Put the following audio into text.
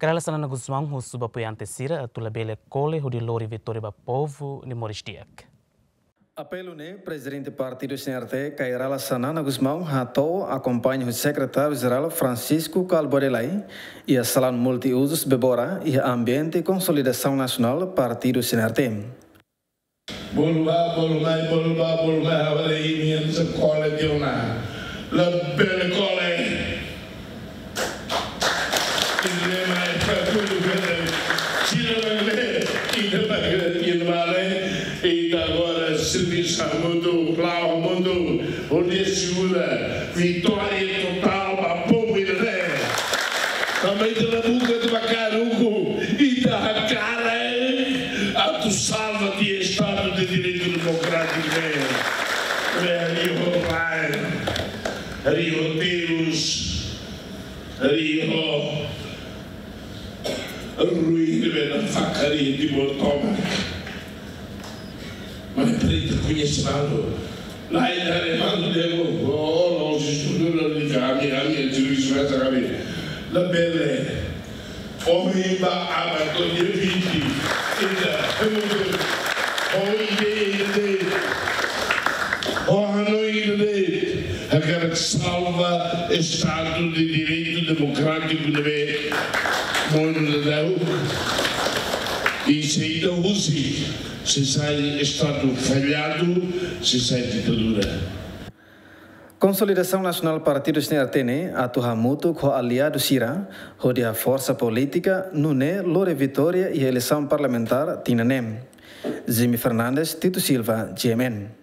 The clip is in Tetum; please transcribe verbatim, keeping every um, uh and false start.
Kay Rala Xanana Gusmão husu ba apoiante sira atu labele kole hodi lori vitória ba povu nia moris di'ak. Apelu ne'e Prezidente Partidu C N R T, Kay Rala Xanana Gusmão, hato'o akompaña husi Sekretáriu Jerál Francisco Kalbuadi Lay iha salaun multiuzus Bebora, iha ambiente konsolidasaun nasionál Partidu C N R T. Bolu bá, bolu mai, bolu bá, bolu mai, ha'u haree imi hanesan kole tiha ona. Labele kole. Ita-nia lema é para tudo bem. Sira ne'e, ita bá, ita bá, ita agora servisu hamutuk, la'o hamutuk, hodi asegura vitória totál ba povu ida-ne'e. Tanba ita la buka atu bá kaer ukun, ita hakarak atu salva tiha Estadu de Direitu Demokrátiku ne'e. Ne'e, rio rai, rio terus, rio ruin ne'ebé nafatin Timor tomak. Mas ita presiza koñese malu. La'ós ita haree malu de'it, oh, no, se sudur la ni kami, kami, servisu mai sa kami. Labele. Ohin ba aban to'o dia vinte. Ita, ho ideia ida de'it, ho hanoin ida de'it, hakarak salva Estadu de Direitu Demokrátiku ne'ebé monu daudaun. I se ita husik, sei sai Estadu falladu, sei sai ditadura. Konsolidasaun Nasionál Partidu C N R T ne'e atu hamutuk ho aliadu sira, hodi haforsa polítika, nune'e lori vitória iha eleisaun parlamentár tinan ne'e. Jimmy Fernandes, Tito Silva, G M N.